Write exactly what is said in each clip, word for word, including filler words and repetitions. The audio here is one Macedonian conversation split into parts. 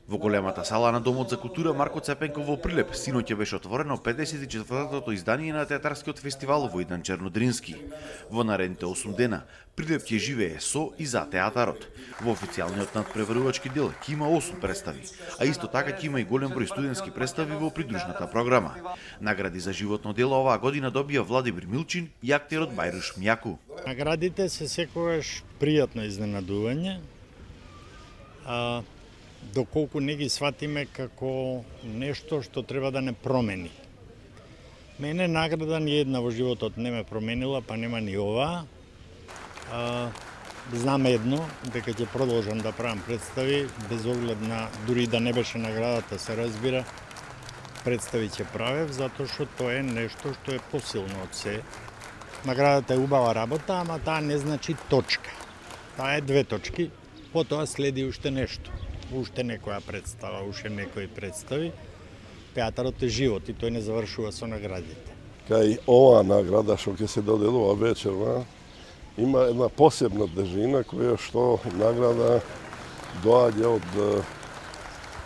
Во големата сала на Домот за култура Марко Цепенков во Прилеп синоќа беше отворено педесет и четвртото издание на театарскиот фестивал во Идан Чернодрински. Во наредните осум дена Прилеп ќе живее со и за театарот. Во официјалниот надпреварувачки дел ќе има осум представи, а исто така ќе има и голем број студентски представи во придружната програма. Награди за животно дело оваа година добија Владимир Милчин и актерот Бајруш Мјаку. Наградите се секогаш пријатно изненадување. А доколку не ги сватиме како нешто што треба да не промени. Мене награда ни една во животот не ме променила, па нема ни ова. А, знам едно, дека ќе продолжам да правам представи, без оглед на, дури да не беше наградата, се разбира, представи ќе правев, затоа што тоа е нешто што е посилно од се. Наградата е убава работа, ама таа не значи точка. Таа е две точки, потоа следи уште нешто. Уште некоја представа, уште некои представи. Театарот е живот и тој не завршува со наградите. Кај оваа награда што ќе се доделува вечерва, има една посебна тежина која што награда доаѓа од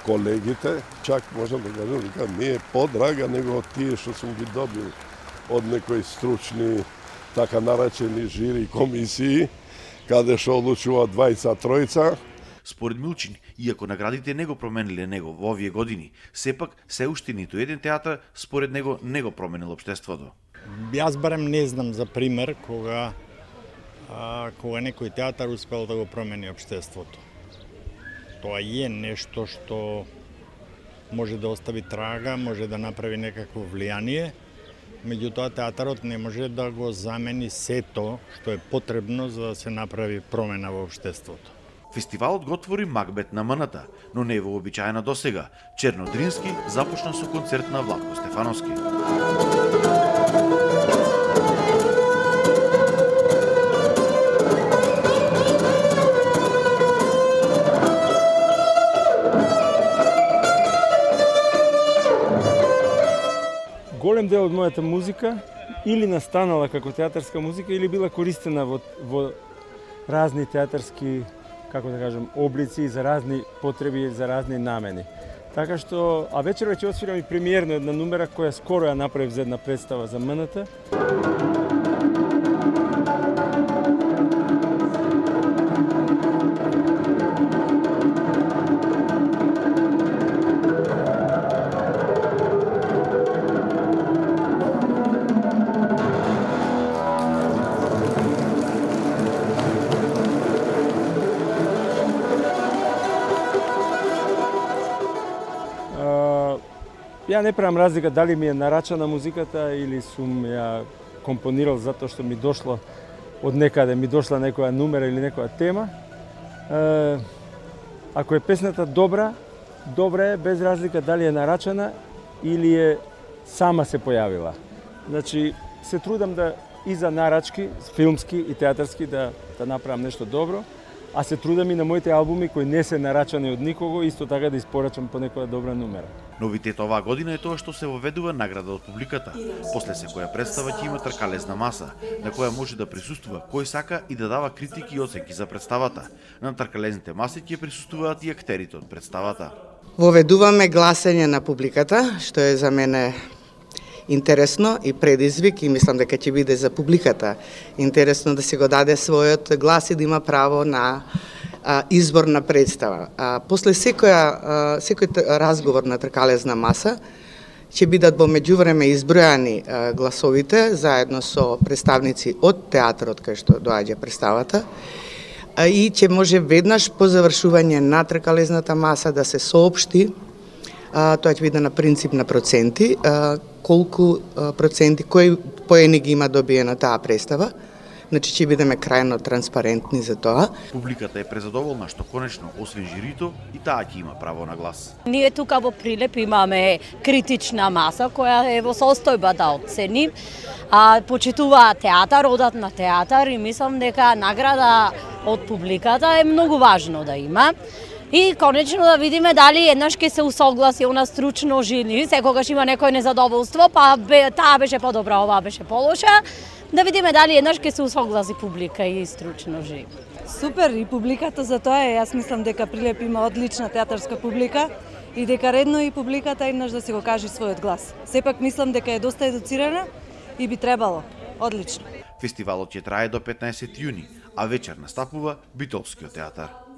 колегите, чак можам да кажам дека не е подрага него од тие што сум ги добил од некои стручни, така наречени жири комисии, каде што одлучува двајца тројца. Според Милчин, иако наградите не го промениле него во овие години, сепак се уште ниту еден театар според него не го променил општеството. Јас барем не знам за пример кога а, кога некој театар успел да го промени општеството. Тоа е нешто што може да остави трага, може да направи некакво влијание, меѓутоа театарот не може да го замени сето што е потребно за да се направи промена во општеството. Фестивалот го отвори Макбет на М-ната, но не е вообичаена досега. Чернодрински започна со концерт на Владко Стефановски. Голем дел од мојата музика или настанала како театарска музика или била користена во, во разни театарски, како да кажам, облици за разни потреби, за разни намени. Така што, а вечерва ќе освирам и премиерно една numera која скоро ја направив за една представа за М-ната. Ја не правам разлика дали ми е нарачана музиката или сум ја компонирал затоа што ми дошло од некаде, ми дошла некоја numera или некоја тема. Е, ако е песната добра, добра е без разлика дали е нарачана или е сама се појавила. Значи, се трудам да и за нарачки, филмски и театарски да, да направам нешто добро, а се трудам и на моите албуми кои не се нарачани од никого, исто така да испорачам по некоја добра numera. Новитет оваа година е тоа што се воведува награда од публиката. После секоја представа ќе има тркалезна маса, на која може да присуствува кој сака и да дава критики и оценки за представата. На тркалезните маси ќе присуствуваат и актерите од представата. Воведуваме гласење на публиката, што е за мене интересно и предизвик и мислам дека ќе биде за публиката интересно да се го даде својот глас и да има право на а, избор на представа. А, после секоја, а, секој разговор на тркалезна маса ќе бидат во меѓувреме избројани а, гласовите заедно со представници од театарот кај што доаѓа представата а, и ќе може веднаш по завршување на тркалезната маса да се соопшти. А, тоа ќе биде на принцип на проценти, а, колку а, проценти, кои поени ги има добиена таа представа. Значи ќе бидеме крајно транспарентни за тоа. Публиката е презадоволна што конечно, освен жирито, и таа ќе има право на глас. Ние тука во Прилеп имаме критична маса која е во состојба да оцени, а почитуваат театар, одат на театар и мислам дека награда од публиката е многу важно да има. И конечно да видиме дали еднаш ќе се усогласи она стручно жили, секогаш има некој незадоволство, па бе, таа беше подобра, оваа беше полоша, Да видиме дали еднаш ќе се усогласи публика и стручно живи. Супер, и публиката за тоа е. Јас мислам дека Прилеп има одлична театарска публика и дека редно и публиката еднаш да се го каже својот глас. Сепак мислам дека е доста едуцирана и би требало. Одлично. Фестивалот ќе трае до петнаесети јуни, а вечер настапува Битолскиот театар.